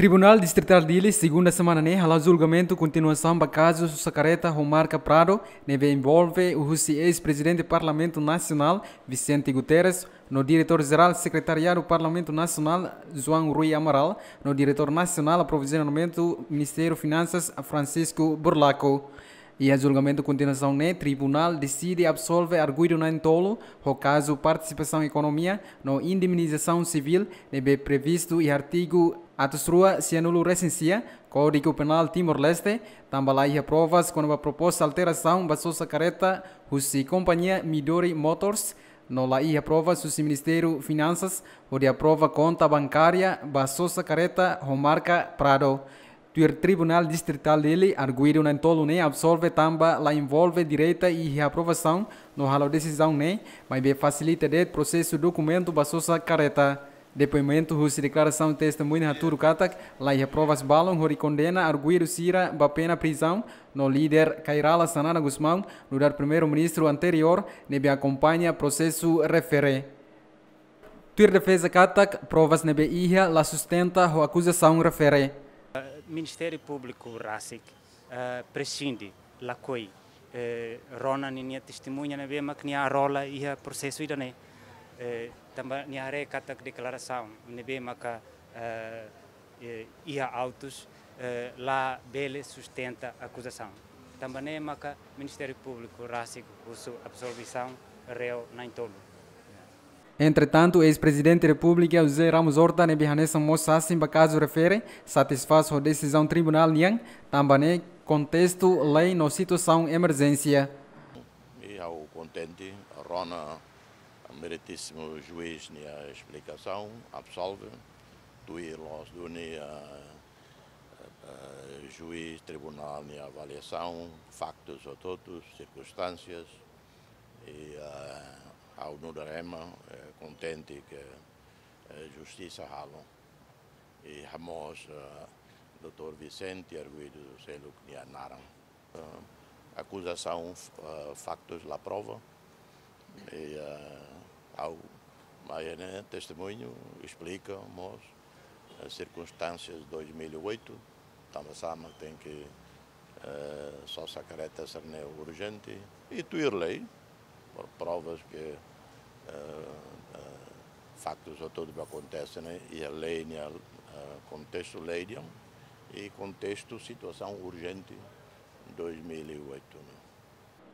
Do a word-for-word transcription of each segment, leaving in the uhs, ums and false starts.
Tribunál Distritál Dili, segunda semana ne'e, hala'o julgamentu kontinuasaun ba kazu sosa kareta ho marka Prado, ne'ebé envolve husi eis-prezidente Parlamentu Nasionál, Vicente Guterres, no Diretór Jerál Sekretariadu Parlamentu Nasionál, João Rui Amaral, no Diretór Nasionál Aprovizionamentu Ministériu Finansas, Francisco Burlaco. Iha julgamentu kontinuasaun ne'e, tribunál deside absolve arguidu na'in-tolu, ho kazu partisipasaun ekonomia no indemnizasaun sivíl, ne'ebé previstu iha artigu atus rua sianulu resin sia, Kódigu Penál Timor-Leste, tanba la iha provas kona-ba proposta alterasaun ba sosa kareta husi kompañia Midori Motors, no la iha provas husi Ministériu Finansas, hodi aprova konta bankária ba sosa kareta ho marka Prado. Tuir Tribunál Distritál Dili, arguidu na'in-tolu ne'e absolve tanba la envolve direta iha aprovasaun no halo desizaun ne'e, maibé fasilita de'it prosesu dokumentu ba sosa kareta. Depoimentu husi deklarasaun testemuña hatudu katak, la iha provas balun hodi kondena arguidu sira ba pena prizaun, no líder Kay Rala Xanana Gusmão, nu'udar Primeiru-Ministru anteriór, ne'ebé akompaña prosesu refere. Tuir defeza katak, provas ne'ebé iha la sustenta ho akuzasaun refere. Ministériu Públiku rasik, eh, presinde, lakohi, eh, rona ninia testemuña ne'ebé mak nia rola iha prosesu ida-ne'e. Eh, tanba nia haree katak deklarasaun ne'ebé maka, eh, eh, iha autus, eh, labele sustenta akuzasaun. Tanba ne'e maka Ministériu Públiku rasik husu absolvisaun réu na'in-tolu. Entretantu, eis-Prezidente Repúblika José Ramos Horta ne'ebé hanesan mós sasin ba kazu refere, satisfás ho desizaun tribunál nian, tanba ne'e kontestu lei no situasaun emerjénsia. I ha'u kontente, rona meritísimu juís nia esplikasaun, absolve, tuir loos duni, eh, eh, juís, tribunál nia avaliasaun, faktus hotu-hotu, sirkunstánsias, i, eh, ha'u nu'udar ema, eh, kontente ke, eh, justisa halo. I hamoos, eh, doutór Vicente arguidu seluk nia naran. Eh, akuzasaun, eh, faktus la prova. I, eh, ha'u mai ne'e testemuñu, esplika mós, eh, sirkunstánsias dois mil e oito, tanba sá mak tenke, eh, sosa kareta sira-ne'e urjente. I tuir lei, por provas ke, eh, eh, faktus hotu-hotu akontese ne'e, iha lei nia, eh, kontestu lei nian, i kontestu situasaun urjente dois mil e oito ne'e.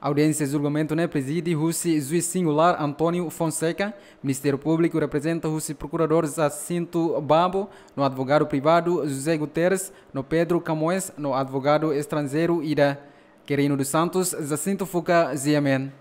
Audiénsia julgamentu ne'e prezide husi juís singulár António Fonseca, Ministériu Públiku reprezenta husi Prokuradór Jacinto Babo, no advogadu privadu José Guterres, no Pedro Camões, no advogadu estranjeiru ida. Querino dos Santos, Jacinto Fuca, G M N.